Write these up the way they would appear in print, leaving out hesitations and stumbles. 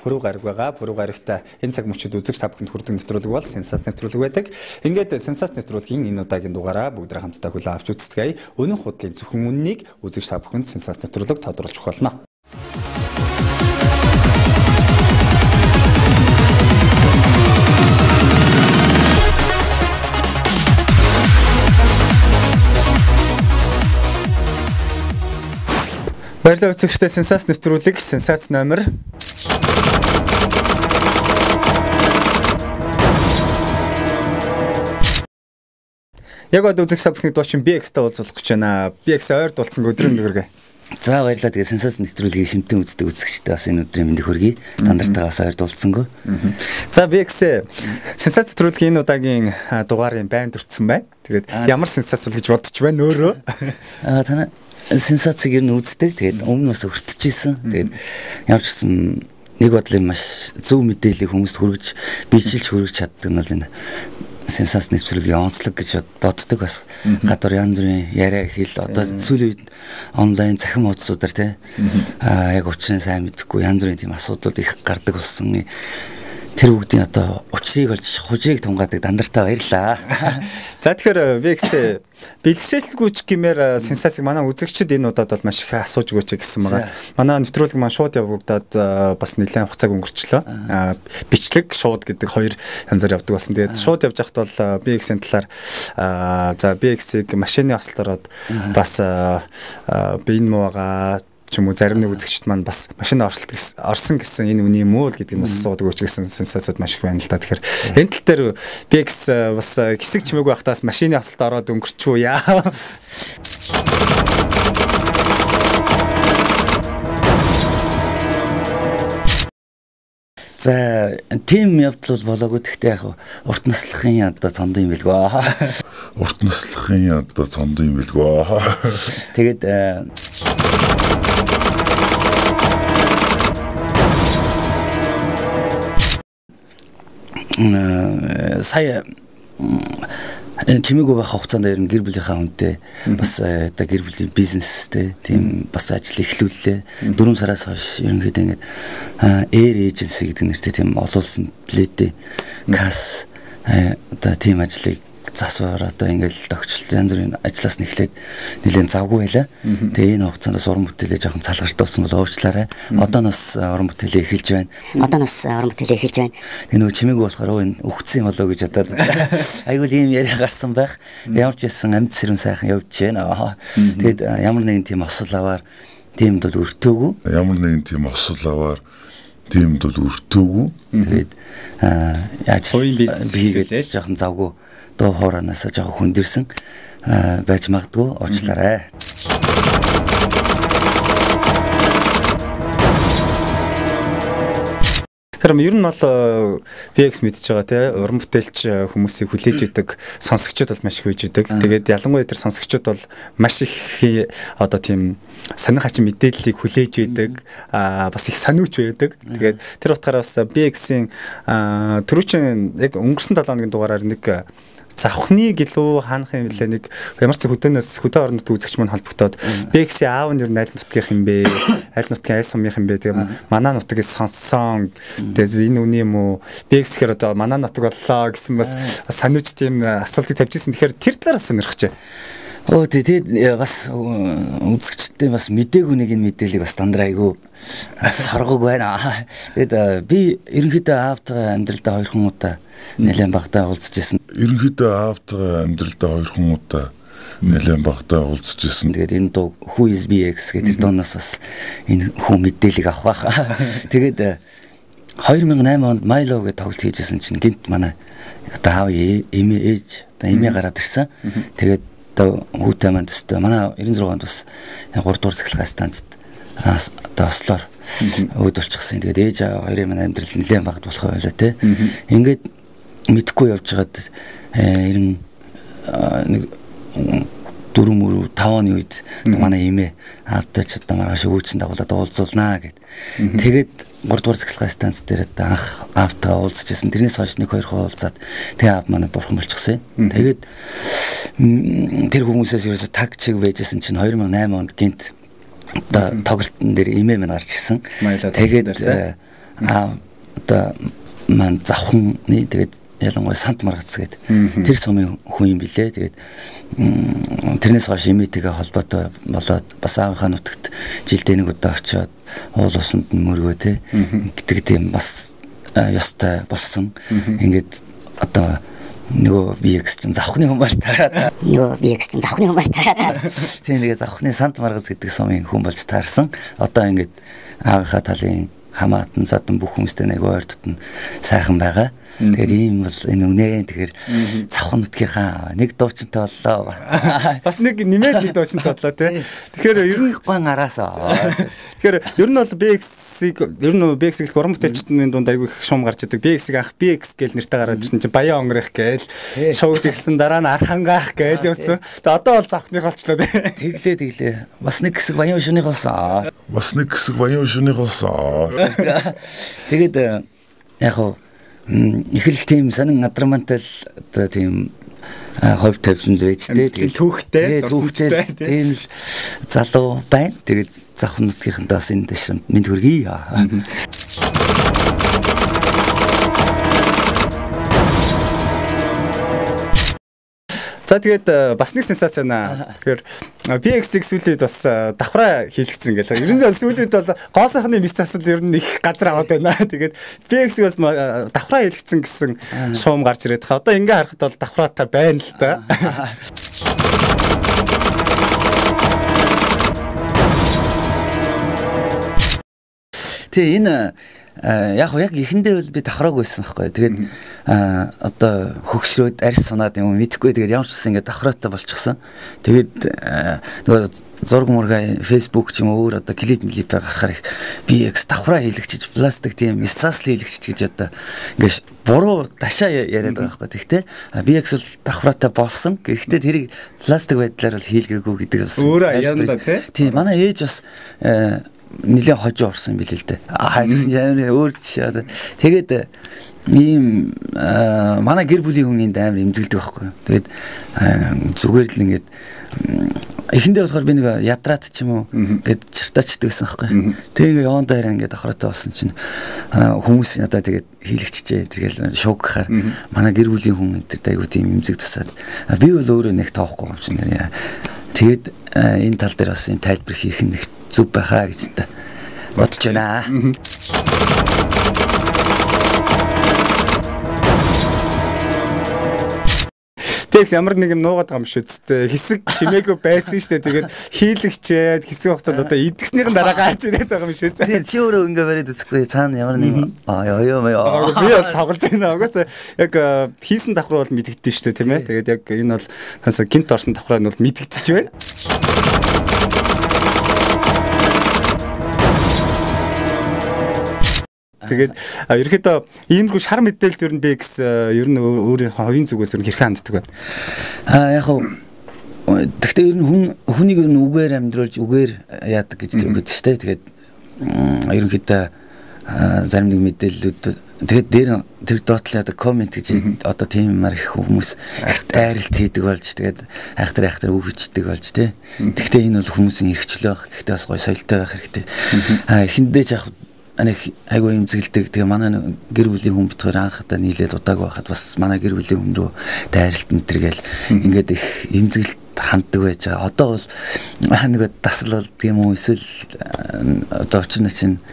Пүрэв гараг байгаа. Пүрэв гарагта энэ цаг мөчид үзэгч та бүхэнд хүрдэг нэвтрүүлэг бол Сенсац нэвтрүүлэг байдаг. Ингээд Сенсац нэвтрүүлгийн энэ удаагийн дугаараа бүгд хамтдаа хүлээн авч үзцгээе. Өнөө худлын зөвхөн үннийг үзэгч та бүхэнд Сенсац нэвтрүүлэг тодорхойлж өгөх болно. Баярлалаа үзэгчдээ Сенсац нэвтрүүлэг Сенсац номер яг одоо үзэгч та бүхний дуучин BX-тэй уулзах гэж байна. BX ойр дулцсан өдрийн мэндийг хүргэе. За баярлалаа. Тэгээ Сенсац нэвтрүүлгийн шимтэн үздэг үзэгчдээ бас энэ өдрийн мэндийг хүргэе. Тандартаагаас ойр дулцсангүй. За BX Сенсац нэвтрүүлгийн энэ удаагийн дугаарын байн дурдсан байна. Тэгээд ямар сенсац бол гэж бодож байна өөрөө. Танай сенсацыг ер нь үздэг. Тэгээд өмнө бас өртөжсэн. Тэгээд ямар ч гэсэн нэг бодлын маш зөв мэдээллийг хүмүүст хүргэж, бичлж хүргэж чаддаг нь бол энэ Сенсац нэвтрүүлгийн онцлог гэж боддог бас. Гадуур янз бүрийн яриа хэл одоо сүүлийн үед онлайн цахим хуудасуудаар яг учрыг сайн мэдэхгүй янз бүрийн тийм асуудлууд их гардаг болсон. Тэр бүгдийн одоо учрыг олж хужирыг тунгаадаг дандартаа баярлаа. За тэгэхээр VX бэлтжээлгүйч гэмээр Сенсацыг манай үзэгчид энэ удаад бол маш их асууж өгөөч гэсэн байгаа. Манай нэвтрүүлэг маань шууд явагдаад бас нэлээд хугацааг өнгөрчлөө. Бичлэг шууд гэдэг хоёр янзаар явдаг болсон. Тэгээд шууд явж хахад бол VX-ийн талаар за VX-ийг машины ослолороод бас би энэ муугаа ч юм уу зарим нэг үзэгчд маань бас машин орсон гэсэн энэ үний юм уу гэдэг нь бас асуудаг өгч гэсэн сенсацууд маш их байна л да. Тэгэхээр энэ тал дээр BX бас хэсэг чимээгүй байхдаас машины ослолт ороод өнгөрчихвөө яа. За тим явдал бол болоогүй гэхдээ яг урт наслахын одоо цондон юм билгөө. Урт наслахын одоо цондон юм билгөө. Тэгээд сая чимээгүй байх хугацаанд ер нь гэр бүлийнхаа хүнтэй бас одоо гэр бүлийн бизнестэй тийм бас ажил эхлүүллээ. 4 сараас хойш ерөнхийдөө ингээд Air Agency гэдэг нэртэй тийм олон улсын плэдэ кас одоо тийм ажлыг засвар одоо ингээл тогтчлт янз бүрийн ажлаас нэхлээд нэлээд завгүй байлаа. Тэгээ энэ хугацаанд бас уран бүтээлээ жоохон салгартай болсон бол уучлаарай. Одоо нас уран бүтээлээ эхэлж байна. Тэгээ нөгөө чимээгүй болохоор энэ өгцсөн болоо гэж бодоод айгүй ийм яриа гарсан байх. Ямар ч байсан амьд сэрүүн сайхан явж байна. Тэгээд ямар нэгэн тийм осол аваар тиймд бол өртөөгүй. Тэгээд яаж хувийн бизнес хийгээд жоохон завгүй доо хооранаас жоохон хүндэрсэн байж магадгүй уучлаарай. Тэгэхээр ер нь бол VX мэдж байгаа тий уран бүтээлч хүмүүсийг хүлээж идэг сонсогчдод бол маш их үйж идэг. Тэгээд ялангуяа тэр сонсогчдод бол маш их одоо тийм сонир хачин мэдээллийг хүлээж идэг бас их сониуч байдаг. Тэгээд тэр утгаараа бас VX-ийн түрүүчийн яг өнгөрсөн 7 хоногийн дугаараар нэг завхны гэлөө хаанах юм бэлээ нэг ямар ч хөдөөн орнод үзэгч мань холбогдоод BX-ийн аав нь ер нь аль нутгийнх юм бэ? Аль нутгийн аль сумынх юм бэ? Тэгээ манай нутгийг сонссон. Тэгээ энэ үний юм уу? BX-ээр одоо манай нутаг боллоо гэсэн бас санууч тийм асуултыг тавьжсэн. Тэгэхээр тэр талаараа сонирхож байна. Тэгээд бас үзэгчдээ бас мдээгүй нэг энэ мэдээллийг бас дандаа айгүй соргог байна. Тэгээд би ерөнхийдөө аавтайгаа амьдралдаа 2 удаа нэлээд багтаа уулзчихсан. Тэгээд энэ дуу Who is BX гэдэг дуунаас бас энэ хүн мэдээллийг авах байх. Тэгээд 2008 онд Milo гэдэг тоглолт хийжсэн чинь гинт манай одоо аав ээж эмээ гараад ирсэн. Тэгээд одоо хүүтэй маань төстэй манай 96 онд бас 3 дугаар цэцлэгээ станцд одоо ослоор өөдөлчихсэн. Тэгээд ээж аав хоёрын манай амьдрал нэлээд багт болох байлаа те. Ингээд мэдхгүй явж байгаад 4 мөрөв 5 оны үед манай эмээ аавтай ч одоо маргааш өөчн дагуулад уулзуулнаа гэд. Тэгээд 3 дугаар цэцлэгээ станц дээр анх аавтайгаа уулзчихсан. Тэрнээс хойш 1-2 уулзаад тэгээ аав манай бурхан болчихсон. Тэгээд тэр хүмүүсээс ерөөсө таг чиг байжсэн чинь 2008 онд гинт одоо тоглолтын дээр эмээ мань гарч ирсэн. Тэгээд одоо маань завхны тэгээд ялангуяа Сант Маргац гэдэг тэр сумын хүн юм билээ. Тэгээд тэрнээс хойш имитэйгээ холбоотой болоод бас аавынхаа нутагт жилдээ нэг удаа очиод уул усанд мөргөө те гэдэг тийм бас ёстой болсон. Ингээд одоо нөгөө BX чинь завхны хүн бол таараад тийм тэгээ завхны Сант Маргац гэдэг сумын хүн болж таарсан. Одоо ингээд аавынхаа талын хамаатан задан бүх хүмүүстэй нэг ойр дотн сайхан байгаа. Тэгээд ийм бол энэ үнэ тэгэхээр завхан нутгийнхаа нэг дуучинтай боллоо. Бас нэг нэмээд нэг дуучинтай боллоо тий. Тэгэхээр ер нь гон араасаа. Тэгэхээр ер нь бол BX-ийг уран бүтээлчдийн дунд айгүй их шуум гарч идэг. BX-ийг анх BX гэл нэртэй гараад ирсэн чинь Баян онгорих гээл шуугж ирсэн дараа нь Архангаах гээл явсан. Тэгээд одоо бол завхных болчлоо тий. Тэглээ. Бас нэг хэсэг Баян шүнийг болсон. Тэгээд яг хоо их л тийм сонин адрамантал одоо тийм ховь тавьсан л байж тээ. Тэгээд түүхтэй тийм л залуу байна. Тэгээд завхан нутгийнхантаас энэ дэшмэнд мэд хүргэе. За тэгээд бас нэг сенсац байна. Тэгэхээр BX-ийг сүүлийн үед бас давхраа хийлгэсэн гэл. Ер нь бол сүүлийн үед бол гоо сайхны мис засал ер нь их газар аваад байна. Тэгээд BX-ийг бас давхраа хийлгэсэн гэсэн шуум гарч ирээд хаа. Одоо ингээ харахад бол давхраатай байна л да. Тэгээ энэ яг эхэндээ бол би давхрааг байсан байхгүй. Тэгээд одоо хөгшрөөд арьс сунаад юм мэдэхгүй. Тэгээд ямар ч гэсэн ингээд давхраатай болчихсон. Тэгээд нөгөө зураг мургаа Facebook ч юм уу өөр одоо клипээр гарахаар их BX давхраа хийлэгчиж пластик тийм эссасл хийлэгчиж гэж одоо ингээд буруу дашаа яриад байгаа байхгүй. Тэгтээ BX бол давхраатай болсон. Гэхдээ тэрийг пластик байдлаар бол хийлгээгүй гэдэг бас өөрөө янда тийм манай ээж бас нэлээд хожоо орсон билээ л дээ. Тэгсэн чинь амар өөр жишээ. Тэгээд ийм манай гэр бүлийн хүн энд амар эмзэглдэг байхгүй. Тэгээд зүгээр л ингээд эхэндээ болохоор би нэг ядраад ч юм уу гээд чартаачдаг гэсэн байхгүй. Тэгээ яван дээр ингээд давхраатай болсон чинь хүмүүс надад тэгээд хийлэгчжээ тэргээл шок гахаар манай гэр бүлийн хүн энэ айгуу тийм эмзэг тусаад би бол өөрөө нэг тоохгүй юм чинь. Тэгээд энэ тал дээр бас энэ тайлбар хийх нь зүг байхаа гэж та бодож байна. Тэгс ямар нэг юм нуугаад байгаа юм шүү дээ. Хэсэг чимээгүй байсан шүү дээ. Тэгээд хийлэгчээд хэсэг хугацаанд одоо идэгснийхэн дараа гарч ирээд байгаа юм шүү. Тэгээд чи өөрөө ингээ бариад үзэхгүй цаана ямар нэг би бол тоглож байна. Угаасаа яг хийсэн давхар бол мэдэгдэж шүү дээ тийм ээ. Тэгээд яг энэ бол хасаа гинт орсон давхраа нь бол мэдэгдэж байна. Тэгээд ерөөхдөө иймэрхүү шар мэдээлэлд ер нь BX ер нь өөрийнхөө хувийн зүгээс ер нь хэрхэн ханддаг вэ? Яг хөө тэгтээ ер нь хүнийг ер нь үгээр амьдруулж үгээр яадаг гэж үгдэж штэ. Тэгээд ерөнхийдөө зарим нэг мэдээллүүд тэгээд дээр тэр доотлоо одоо комент гэж одоо тийм юмар их хүмүүс айралт хийдэг болж тэгээд айхтар үг бичдэг болж тий. Тэгтээ энэ бол хүмүүсийн эрхчлөө байх. Гэхдээ бас гоё соёлтой байх хэрэгтэй. Эхэндээ ч яг айгуу имзгэлдэг. Тэгээ манай гэр бүлийн хүн битгаар анхудаа нийлээд удааг байхад бас манай гэр бүлийн хүн рүү дайралт мэтэргээл ингээд их имзгэлт ханддаг байж байгаа. Одоо бол нэг дасал бол тийм үү эсвэл одоо очно чинь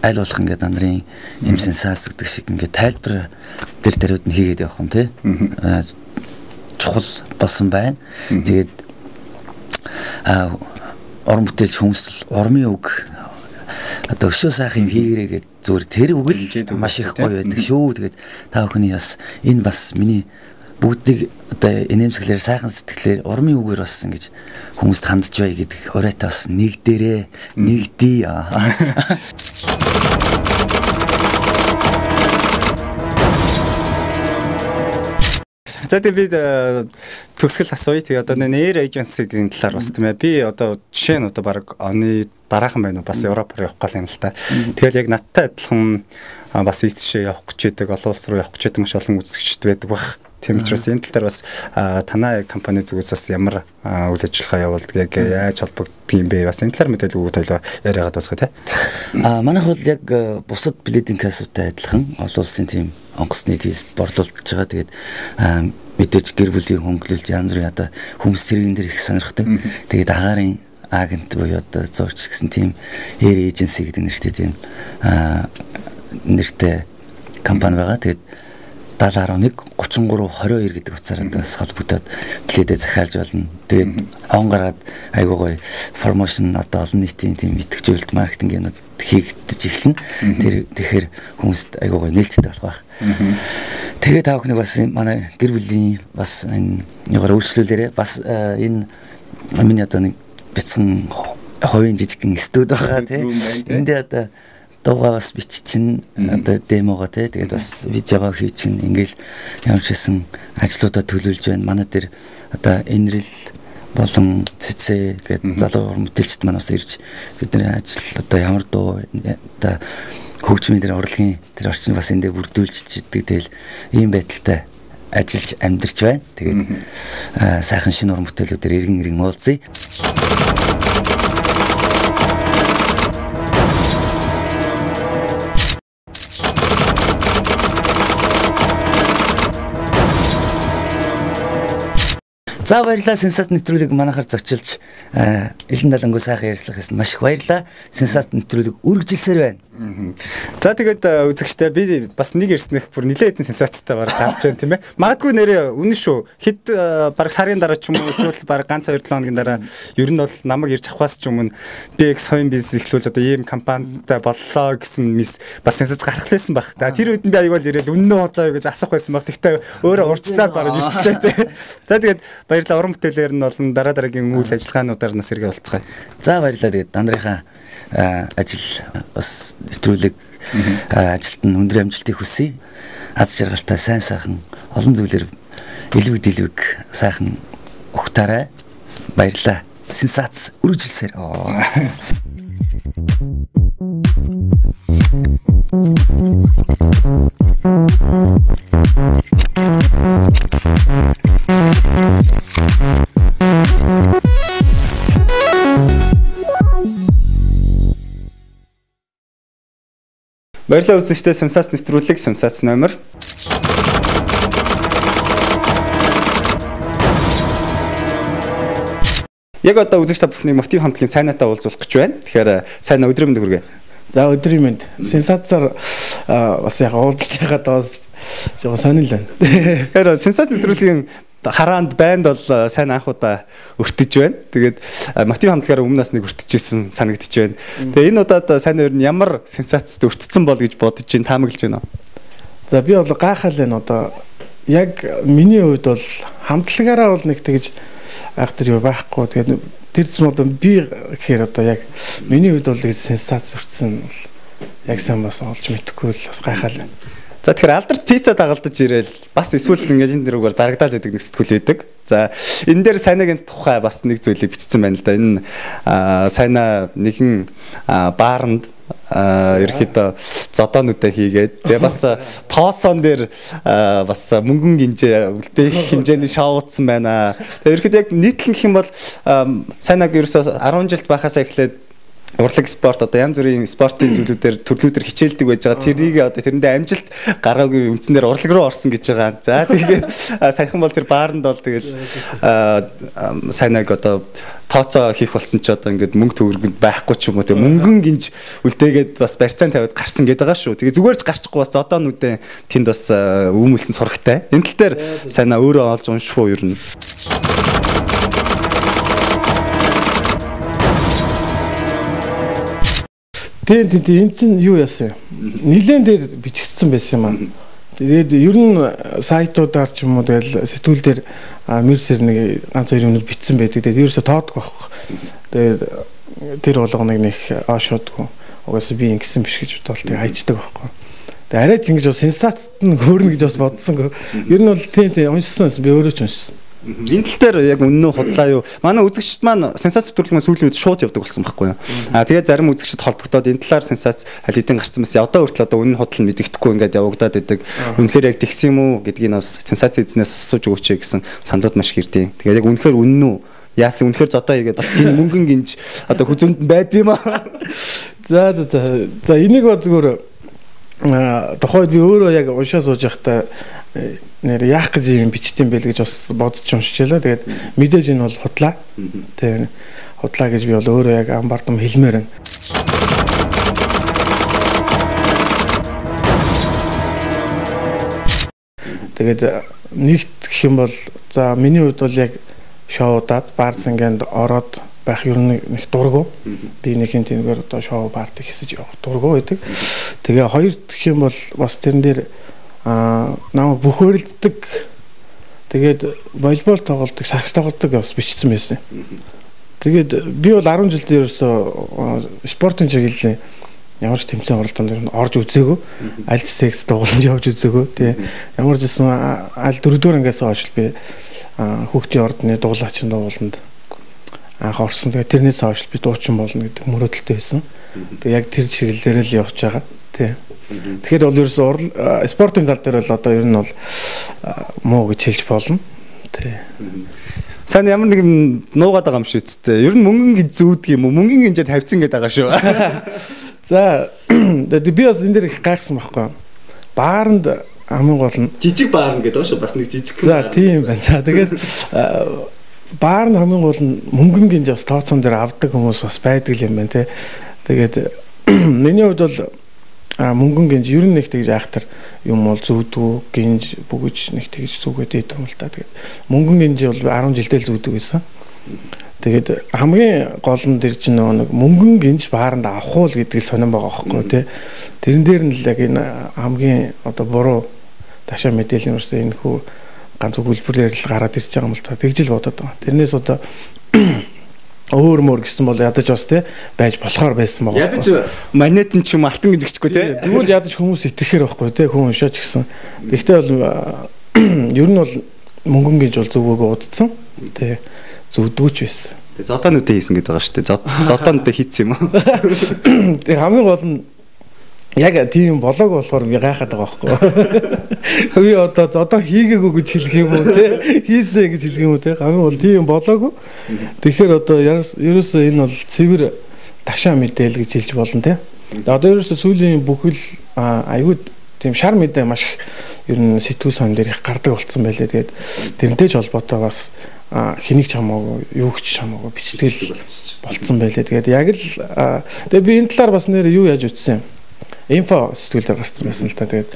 аль болох ингээд нарын юм сенсац гэдэг шиг ингээд тайлбар тэр даруйд нь хийгээд явах юм тий. Чухал болсон байна. Тэгээд уран бүтээлч хүмүүс урмын үг одоо өшөө сайхан юм хийгэрээгээд зүгээр тэр үг л маш их гоё байдаг шүү. Тэгээд та бүхний бас энэ бас миний бүгдийг одоо инээмсэглэр сайхан сэтгэлээр урмын үгээр бас ингэж хүмүүст хандж бай гэдэг оройтой бас нэг дээрээ нэгдий. За тэгээд төгсгөл асууя. Тэгээ одоо нэр эйженсигийн талаар бас тийм ээ. Би одоо жишээ нь одоо баг оны дараахан байна уу бас Европоор явах гал юм л та. Тэгэл яг надтай адилхан бас ийш тийшээ явах гэж байдаг, олон улс руу явах гэж байдаг маш олон үзэгчд байдаг баг. Тийм учраас энэ тал дээр бас танай компани зүгээс бас ямар үйл ажиллагаа явуулдаг яг яаж холбогддог юм бэ? Бас энэ талаар мэдээлэл өгөх тойлоо яриагаад басгаа тий. Манайх бол яг бусад билетийн кассатай адилхан олон улсын тийм онгоцны тийс борлуулж байгаа. Тэгээд мэдээж гэр бүлийн хөнгөлөлт янз бүрийн одоо хүмүүс тэрэгэн дээр их сонирхдаг. Тэгээд агаарын агент буюу одоо зоогч гэсэн тийм air agency гэдэг нэртэй тийм нэртэй компани байгаа. Тэгээд 7011 33 22 гэдэг утсаар бас холбогдоод билетээ захиалж болно. Тэгээд он гараад айгуу гоё промошн одоо олон нийтийн тийм идэвхжүүлэлт маркетингийнууд хийгдэж эхэлнэ. Тэгэхээр хүмүүст айгуу гоё нээлттэй болох байх. Тэгээд та бүхний бас манай гэр бүлийн бас энэ ягаар үйлчлүүлээрээ бас энэ миний одоо нэг бяцхан хувийн жижигхэн студи байгаа тийм. Энд одоо дуугаа бас биччин одоо демого тий тэгээд бас видеого хийчин ингээл ямар ч хэсэн ажлуудаа төлөвлөж байна. Манай дээр одоо энэрл болон цэцээ гэдэг залуу мэтэлчд маань бас ирж бидний ажил одоо ямар дуу одоо хөгжмийн дээр урлагийн тэр орчин бас эндээ бүрдүүлж идэг. Тэгэл ийм байдалтай ажиллаж амьдарч байна. Тэгээд сайхан шинэ уран бүтээлүүдээр иргэн уулзъя. За баярлалаа сенсац нэвтрүүлэг манайхаар зочилж элен далангуу сайхан ярьцлах гэсэн маш их баярлалаа. Сенсац нэвтрүүлэг үргэлжилсээр байна. За тэгээд үзэгчтэй би бас нэг ярьснах бүр нилээд сенсацтай бараг гарч байна тийм ээ. Магадгүй нэрээ үнэн шүү. Хэд бараг сарын дараа ч юм уу эсвэл бараг ганц 2-7 хоногийн дараа ер нь бол намайг ирж авахаас ч өмнө би соён бизнес эхлүүлж одоо ийм компанитай боллоо гэсэн мис бас сенсац гарах лээсэн баг. Тэр үед би аягүй ирээл үнэн хотлоо гэж асуух байсан баг. Тэгтээ өөрөө урьдчилаад бараг ирчтэй тийм. За тэгээд баярлалаа уран бүтээлээр нь болон дараагийн үйл ажиллагаануудаар нас иргэ болцгаая. За баярлалаа тэгээд дандрынхаа ажил бас нэвтрүүлэг ажилд нь өндөр амжилтыг хүсье. Аз жаргалтай сайн сайхан олон зүйлээр илвэг сайхан ухтаарай. Баярлалаа. Сенсац үргэлжилсээр. Баярлалаа үзэгчдээ сенсац нэвтрүүлэг сенсац номер. Яг одоо үзэгч та бүхний мотив хамтлагийн сайнатаа уулзуулах гэж байна. Тэгэхээр сайнаа өдрийн мэнд хүргэе. За өдрийн мэнд. Сенсацаар бас яг уулзж байгаад бас жоохон сонирхол байна. Тэгэхээр сенсац нэвтрүүлгийн хараанд банд бол сайн анхудаа өртөж байна. Тэгээд мотив хамтлагаараа өмнөөс нэг өртөжсэн санагдаж байна. Тэгээ энэ удаад сайн өөр нь ямар сенсацд өртсөн бол гэж бодож чинь таамаглаж байна. За би бол гайхал байна одоо яг миний хувьд бол хамтлагаараа бол нэг тэгж айхтар юу байхгүй. Тэгээд тэр зүйл одоо би гэхээр одоо яг миний хувьд бол сенсац өртсөн бол яг сайн бас олж мэдэхгүй л бас гайхал байна. За тэгэхээр алдарт пицца дагалдаж ирээл бас эсвэл ингээд энэ дэрүүгээр зарагдаад байдаг нэг сэтгүүл байдаг. За энэ дээр сайнагийн тухай бас нэг зүйлийг бичсэн байна л да. Энэ сайнаа нэгэн бааранд ерөөхдөө зодоонуудаа хийгээд тэгээ бас тооцоон дээр бас мөнгөн гинжээ үлдээх хэмжээний шоу утсан байна. Тэгээ ерөөхдөө яг нийтлэн гэх юм бол сайнааг ерөөсөө 10 жилд байхасаа эхлээд урлаг спорт одоо янз бүрийн спортын зүйлүүдээр төрлүүдээр хичээлдэг байж байгаа. Тэрийг одоо тэрэндээ амжилт гараагүй үндсээр урлаг руу орсон гэж байгаа. За тэгээд саяхан бол тэр бааранд бол тэгэл сайнаг одоо тооцоо хийх болсон ч одоо ингээд мөнгө төгрөгөнд байхгүй ч юм уу тэг мөнгөн гинж үлдээгээд бас барьцаан тавиад гарсан гэдэг байгаа шүү. Тэгээ зүгээр ч гарчихгүй бас зодоонуудын тэнд бас үүмэлсэн сурагтай. Энэ тал дээр сайнаа өөрөө олж унших уу ер нь. Тийм энэ чинь юу яасан? Нилээн дээр бичигдсэн байсан юм аа. Тэгээд ер нь сайтуудаар ч юм уу тэгэл сэтгүүл дээр мэрсэр нэг ганц хоёр минут бичсэн байдаг. Тэгээд ерөөсө тоодох байхгүй. Тэгээд тэр болгоныг нэг оошоодгүй. Угаасаа би ингэсэн биш гэж бодвол тэг хайчдаг байхгүй. Тэгээд арайч ингэж бас сенсацт нь хөөрнө гэж бас бодсонгүй. Ер нь бол тийм уншсан би өөрөө ч уншсан. Энэ тал дээр яг үнэн үү худлаа юу? Манай үзэгчд маань сенсац төрөлхөн сүүлийн үед шууд явдаг болсон байхгүй юу? Тэгээд зарим үзэгчд холбогдоод энэ талаар сенсац аль хэдийн гарсан байсан. Одоо хүртэл одоо үнэн худал нь мэддэхгүй ингээд явагдаад байдаг. Үнэхээр яг тэгсэн юм уу гэдгийг бас сенсац эзнээс асууж өгөөч гэсэн саналуд маш их ирдیں۔ Тэгээд яг үнэхээр үнэн үү? Яасан үнэхээр зодоо хийгээд бас гин мөнгөн гинж одоо хүзүнд байд юм аа. За энийг бол зүгээр тухайд би өөрөө яг уншаа сууж байхдаа нэр яах гэж юм бичтiin байл гэж бас бодож уншчихлаа. Тэгээд мэдээж энэ бол худлаа. Тэгээд худлаа гэж би бол өөрөө яг амбардам хэлмээр байна. Тэгээд нэгт гэх юм бол за миний хувьд бол яг шоудад бар санганд ороод байх ер нь нэг дургу. Би нэгэн тэнгээр одоо шоу партиг хийсэж явах дургу байдаг. Тэгээ хоёрт гэх юм бол бас тэрэн дээр намайг бүхөрлөдөг. Тэгээд волейбол тоглодог, сакс тоглодог бас бичсэн байсан. Тэгээд би бол 10 жилдээ ерөөсөө спортын чиглэлийн ямар ч тэмцээн оролдоонд ер нь орж үзээгүй. Аль ч секс тоглоомж явж үзээгүй. Тэгээ ямар ч гэсэн аль 4-р ангиас хойш би хүүхдийн ордны дуулаачин дууланд анх орсон. Тэгээ тэрнээс хойш би дуучин болно гэдэг мөрөөдөлтэй байсан. Тэгээ яг тэр чиглэлээр л явж байгаа. Тий. Тэгэхээр бол ерөөсөө спортын тал дээр бол одоо ер нь бол муу гэж хэлж болно. Тий. Сайн ямар нэг юм нуугаад байгаа юм шүү дээ. Ер нь мөнгөн гэж зүүдг юм уу? Мөнгөн гинжээр тавьсан гэдэг байгаа шүү. За би бас энэ дээр их гайхсан байхгүй. Бааранд хамгийн гол нь жижиг баарн гэдэг шүү. Бас нэг жижиг. За тийм байна. За тэгээд баарнд хамгийн гол нь мөнгөн гинж бас тооцоон дээр авдаг хүмүүс бас байдаг юм байна те. Тэгээд миний хувьд бол мөнгөн гинж ер нь нэг тэгж айхтар юм бол зүүдгүй гинж бүгж нэг тэгж зүгээд идэв юм л та. Тэгээд мөнгөн гинж бол 10 жилдээ л зүүдэг байсан. Тэгээд хамгийн гол нь тэр чинь нэг мөнгөн гинж бааранд авах уу гэдэг сонирн байгаа байхгүй тий. Тэрэн дээр нь л яг энэ хамгийн одоо буруу ташаа мэдээлэл нь үстэй энэ хүү ганц өгүүлбэрээр л гараад ирж байгаа юм л та. Тэгж л бодоод байгаа. Тэрнээс одоо өөр мөр гэсэн бол ядаж бас тий байж болохоор байсан байгаа. Ядаж манетын ч юм алтан гэж гिचгүй тий. Тэгвэл ядаж хүмүүс итгэхээр байхгүй тий хүн уншаач гэсэн. Гэхдээ бол ер нь бол мөнгөн гинж бол зүгөөгөө удцсан тий зүвдгүүч байсан. Зодоонуудаа хийсэн гэдэг байгаа шүү дээ. Зодоонуудаа хийцсэн юм аа. Тэг хамгийн гол нь яг тийм болоог болохоор би гайхаад байгаа байхгүй. Би одоо зодоо хийгээгүй гэж хэлэх юм уу те? Хийсэн гэж хэлэх юм уу те? Хамгийн гол тийм болоогүй. Тэгэхээр одоо ерөөсөө энэ бол цэвэр ташаа мэдээл гэж хэлж болно те. Одоо ерөөсөө сүүлийн бүхэл аюуд тийм шар мэдээ маш ер нь сэтгүүл сон дээр их гардаг болсон байлээ. Тэгээд тэрнтэй ч холбоотой бас хэнийг ч хамаагүй юу ч хамаагүй бичтгэл болцсон байлээ. Тэгээд яг л тэгээд би энэ талаар бас нэр юу яаж үтсэн юм. Инфо сэтгүүл дээр гарсан байсан л та. Тэгээд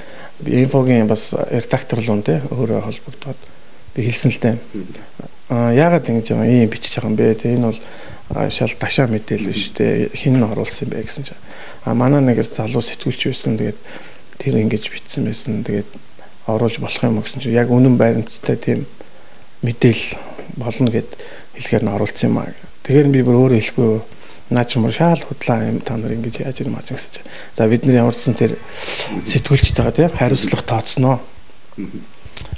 инфогийн бас редакторлуун те өөрөө холбогдоод би хэлсэн л та. Яагаад ингэж байгаа юм бичиж байгаа юм бэ те. Энэ бол шал ташаа мэдээлэл биш те. Хин нь оруулсан юм бэ гэсэн чинь. Манай нэг залуу сэтгүүлч байсан. Тэгээд тэр ингэж бичсэн байсан. Тэгээд оруулж болох юм гэсэн чинь яг үнэн баримттай тийм мэдээл болно гэд хэлэхээр нь оруулсан юм аа. Тэгэхээр би бүр өөрөө хэлэхгүй наа ч мөр шаал худлаа юм та нар ингэж яаж юм ааж гэсэн чинь. За бид нар ямар ч сан тэр сэтгүүлчтэйгээ тийм хариуцлага тооцноо.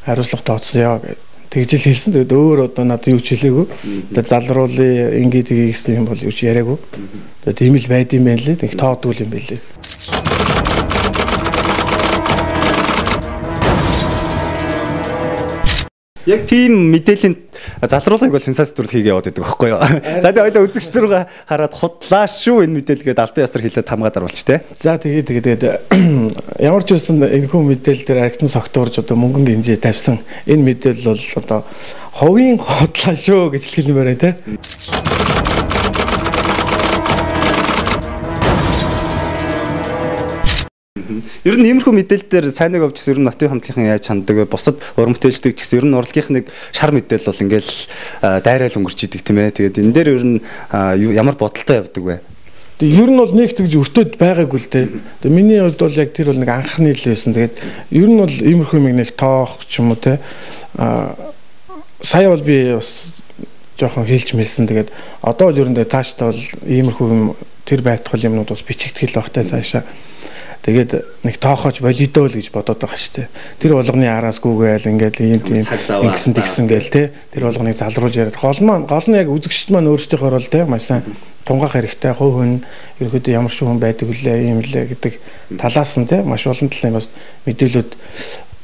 Хариуцлага тооцсон яа гэд тэгж л хэлсэн. Тэгээд өөр одоо надад юу ч хэлээгүй. Тэгээд залруулъя ингэж гэсэн юм бол юу ч яриаггүй. Тэгээд тийм л байд юм байна лээ. Тэг тоодгүй юм байлээ. Яг тийм мэдээллийн залруулгыг бол сенсац төрөл хийгээ яваад байдаг байхгүй юу. За тэгээ ойлоо үзэгч рүүгээ хараад худлаа шүү энэ мэдээлгээд албан ёсоор хэлээд хамгаад оруулж тэ. За тэгээд ямар ч байсан энэхүү мэдээлэл дээр архитан согтуурж одоо мөнгөн гинжээ тавьсан энэ мэдээлэл бол одоо ховын худлаа шүү гэж хэлмээр байна тэ. Ер нь иймэрхүү мэдээлэл дээр сайныг авч ер нь нотын хамтлагийн яаж ханддаг вэ? Бусад уран бүтээлчдэг ч гэсэн ер нь урлагийнх нэг шар мэдээлэл бол ингээл дайраал өнгөрч идэг тийм ээ. Тэгээд энэ дээр ер нь ямар бодолтой явдаг вэ? Тэгээд ер нь бол нэг тэгж өртөөд байгаагүй л дээ. Тэгээд миний хувьд бол яг тэр бол нэг анхны л байсан. Тэгээд ер нь бол иймэрхүү нэг тоох ч юм уу те. Сая бол би бас жоохон хэлж мэлсэн. Тэгээд одоо бол ер нь тааштай бол иймэрхүү тэр байтгал юмнууд бас бичигдэх л багтай цаашаа. Тэгээд нэг тоохооч болидоо л гэж бодоод байгаа шүү дээ. Тэр болгоны араас гүгээл ингээд ийм ингэсэн тэгсэн гээл те. Тэр болгоныг залруулж яриад гол нь яг үзэгчд маань өөрсдийнхөө рол те маш сайн тунгаах хэрэгтэй. Хувь хүн ерөөдөө ямар ч хүн байдаг үлээ юм лээ гэдэг талаас нь те маш олон талын бас мэдээлэлүүд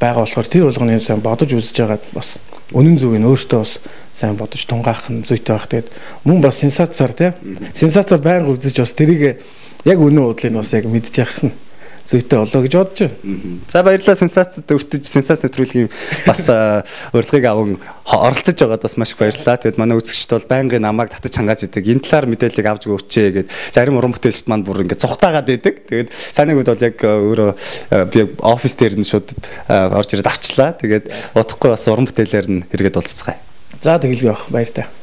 байгаа болохоор тэр болгоны сайн бодож үзэж байгаад бас үнэн зөвийг өөртөө бас сайн бодож тунгаах нь зүйтэй байх. Тэгээд мөн бас сенсацаар те сенсацаар байнга үзэж бас тэрийг яг үнэн удлыг бас яг мэдж явах нь зүйтэй болоо гэж бодож байна. За баярлалаа сенсацид өртөж сенсац нэвтрүүлгийн бас урилгыг аван оролцож байгаад бас маш их баярлалаа. Тэгээд манай үзэгчд бол байнгын намайг татаж хангааж идэг. Энэ талаар мэдээллийг авч өгөөч гэд зарим уран бүтээлчд маань бүр ингээд цухтаагаад идэг. Тэгээд саний үед бол яг өөрөө би офис дээр нь шууд орж ирээд авчлаа. Тэгээд удахгүй бас уран бүтээлээр нь хэрэгэд уулзцгаая. За тэгэлгүй байх баяр та.